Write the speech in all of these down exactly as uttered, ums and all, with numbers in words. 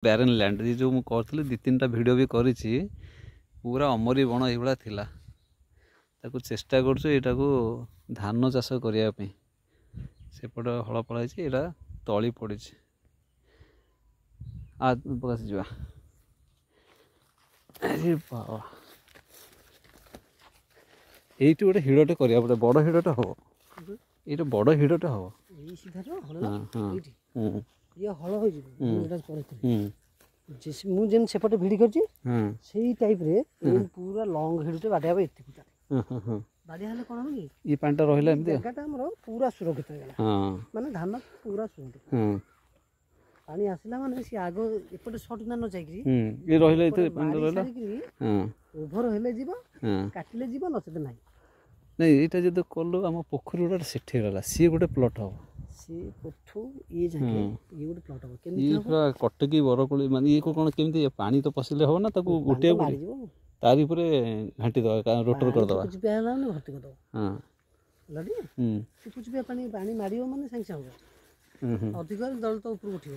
Barren land ଏ ଯେଉଁ ମୁଁ କରିଥିଲି ଦୁଇ ତିନିଟା ଭିଡ଼ିଓ ବି କରିଛି ପୁରା ଅମରି ବଣ ଏଇଭଳିଆ ଥିଲା ତାକୁ ଚେଷ୍ଟା କରୁଛୁ ଏଇଟାକୁ ଧାନ ଚାଷ କରିବା ପାଇଁ ସେପଟ ହଳ ଫଳ ହେଇଛି ଏଇଟା ତଳି ପଡ଼ିଛି ଆ ପ୍ରକାଶ ଯିବା ଆରେ ବାବା ଏଇଠି ଗୋଟେ ହିଡ଼ଟେ କରିବାକୁ ପଡ଼ିବ ବଡ଼ ହିଡ଼ଟେ ହବ ଏଇଟା ବଡ଼ ହିଡ଼ଟେ ହବ ଏଇ ସିଧାର ହଳ ହଁ ହଁ ଏଇଠି ହୁଁ ଇଏ ହଳ ହେଇଯିବ ମୁଁ ଏଇଟା କରିଥିଲି ହୁଁ ଯେ- ମୁଁ ଯେମିତି ସେପଟେ ଭିଡ଼ି କରିଛି ହଁ ସେଇ ଟାଇପ୍ରେ ଏଇ ପୁରା ଲଙ୍ଗ ହିଡ଼ଟେ ବାଡ଼ିଆ ହବ ଏତିକି ହଁ ହଁ ହଁ ବାଡ଼ିଆ ହେଲେ କ'ଣ ହବ କି ଇଏ ପାଣିଟା ରହିଲା ଏମିତି ଆଉ। ଜାଗାଟା ଆମର ପୁରା ସୁରକ୍ଷିତ ହେଇଗଲା ହଁ ମାନେ ଧାନ ପୁରା ସୁରକ୍ଷିତ ହଁ ପାଣି ଆସିଲା ମାନେ ସିଏ ଆଗ ଏପଟେ ସର୍ଟ ନା ନ ଯାଇକିରି ହୁଁ ଇଏ ରହିଲା ଏଥିରେ ଏପଟେ ପାଣିଟା ମାରି ରହିଲା ସାରିକିରି ହଁ ଓଭର ହେଲେ ଯିବ ହଁ କାଟିଲେ ଯିବ ନଚେତ ନାହିଁ ନାଇଁ ଏଇଟା ଯଦି କଲୁ ଆମ ପୋଖରୀ ଗୁଡ଼ା ସେଠି ରହିଲା ସିଏ ଗୋଟେ ପ୍ଲଟ୍ ହବ ସିଏ ପଠୁ ଇଏ ଯାକେ ଇଏ ଗୋଟେ ପ୍ଲଟ୍ ହବ କେମିତି ଇଏ ହବ ପୁରା କଟକି ବରକୋଳି ମାନେ ଇଏ କ'ଣ କେମିତି ପାଣି ତ ପଶିଲେ ହବ ନା ତାକୁ ପାଣି ତ ଗୋଟିଏ ମାରିଯିବ ତାରି ଉପରେ ଘାଣ୍ଟି ଦେବା ରୋଟର କରିଦେବା ଚିପିଆ ହେଲା ମାନେ ଭର୍ତ୍ତି କରିଦବ ହଁ ହେଲା ଟି ହୁଁ ଚିପୁ ପାଣି ପାଣି ମାରିବ ମାନେ ସାଙ୍ଗେ ସାଙ୍ଗେ ହବ ହୁଁ ହୁଁ ଅଧିକ ହେଲେ ଦଳ ତ ଉପରକୁ ଉଠିବ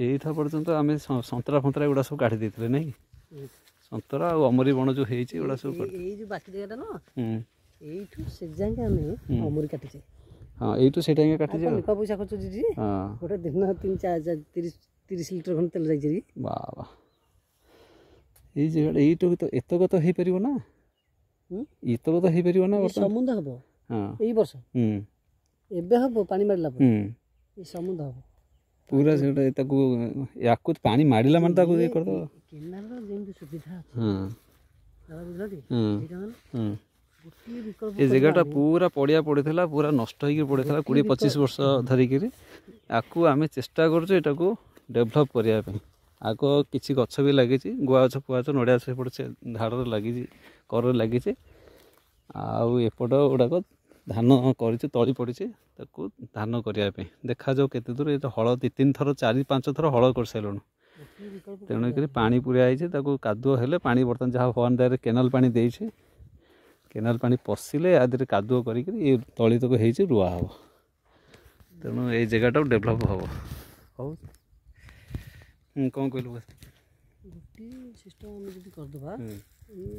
ଏଇଟା ପର୍ଯ୍ୟନ୍ତ ଆମେ ସ- ସନ୍ତରା ଫନ୍ତରା ଏଗୁଡ଼ା ସବୁ କାଢ଼ି ଦେଇଥିଲେ ନାଇଁ କି ହୁଁ। ସନ୍ତରା ଆଉ ଅମରି ବଣ ଯେଉଁ ହେଇଛି ଏଗୁଡ଼ା ସବୁ ଏଇ ଏଇ ଯୋଉ ବାକି ଜାଗାଟା ନା ହୁଁ ଏଇଠୁ ସେ ଯାକେ ଆମେ ଅମୁରି କାଟିଛେ ହଁ ଏଇଠୁ ସେଇଟା ହିଁ ଆଉ କାଟିଛେ କଣ ଲିପା ପଇସା ଖର୍ଚ୍ଚ ଦିଦି ହଁ ଗୋଟେ ଦିନ ତିନି ଚାରି ଚାରି ତିରିଶ ତିରିଶ ଲିଟର ଖଣ୍ଡେ ତେଲ ଯାଇଛି ବାବା ଏଇ ଜାଗାଟା ଏଇଠୁ ତ ଏତକ ତ ହେଇପାରିବ ନା ହୁଁ? ଏତକ ତ ହେଇପାରିବ ନା ବର୍ତ୍ତମାନ ସମୁଦ୍ର ହବ ହଁ ଏଇ ବର୍ଷ ହୁଁ ଏବେ ହବ ପାଣି ମାରିଲା ପରେ ହୁଁ ଏଇ ସମୁଦ୍ର ହବ ପୁରା ସେଟା ତାକୁ ୟାକୁ ପାଣି ମାରିଲା ମାନେ ତାକୁ ଇଏ କରିଦେବ କେନାଲର ଯେମିତି ସୁବିଧା ଅଛି ହଁ ଦାଦା ବୁଝିଲ ଟି ହୁଁ ଏଇଟା ମାନେ ହୁଁ ଗୋଟିଏ ବିକଳ୍ପ ଏ ଜାଗାଟା ପୁରା ପଡ଼ିଆ ପଡ଼ିଥିଲା ପୁରା ନଷ୍ଟ ହେଇକି ପଡ଼ିଥିଲା କୋଡ଼ିଏ ପଚିଶ ବର୍ଷ ଧରିକିରି ଆକୁ ଆମେ ଚେଷ୍ଟା କରୁଛୁ ଏଟାକୁ ଡେଭଲପ୍ କରିବା ପାଇଁ ଆଗ କିଛି ଗଛ ବି ଲାଗିଛି ଗୁଆ ଗଛ ଫୁଆ ଗଛ ନଡ଼ିଆ ଗଛ ସେପଟେ ସେ ଧାରରେ ଲାଗିଛି କରରେ ଲାଗିଛି ଆଉ ଏପଟ ଗୁଡ଼ାକ ଧାନ କରିଛୁ ତଳି ପଡ଼ିଛି ତାକୁ ଧାନ କରିବା ପାଇଁ ଦେଖାଯାଉ କେତେ ଦୂର ଏ ତ ହଳ ଦୁଇ ତିନି ଥର ଚାରି ପାଞ୍ଚ ଥର ହଳ କରିସାରିଲୁଣୁ ଗୋଟିଏ ବିକଳ୍ପ ତେଣୁକରି ପାଣି ପୁରା ହେଇଛି ତାକୁ କାଦୁଅ ହେଲେ ପାଣି ବର୍ତ୍ତମାନ ଯାହା ଭଗବାନ ଦୟାରେ କେନାଲ ପାଣି ଦେଇଛି କେନାଲ ପାଣି ପଶିଲେ ୟା ଦେହରେ କାଦୁଅ କରିକିରି ଏ ତଳି ତକ ହେଇଛି ରୁଆ ହେବ ତେଣୁ ଏଇ ଜାଗାଟାକୁ ଡେଭଲପ୍ ହେବ ହଉ ହୁଁ କ'ଣ କହିଲୁ ଗୋଟିଏ ସିଷ୍ଟମ୍ ଆମେ ଯଦି କରିଦେବା ହୁଁ ଏଇ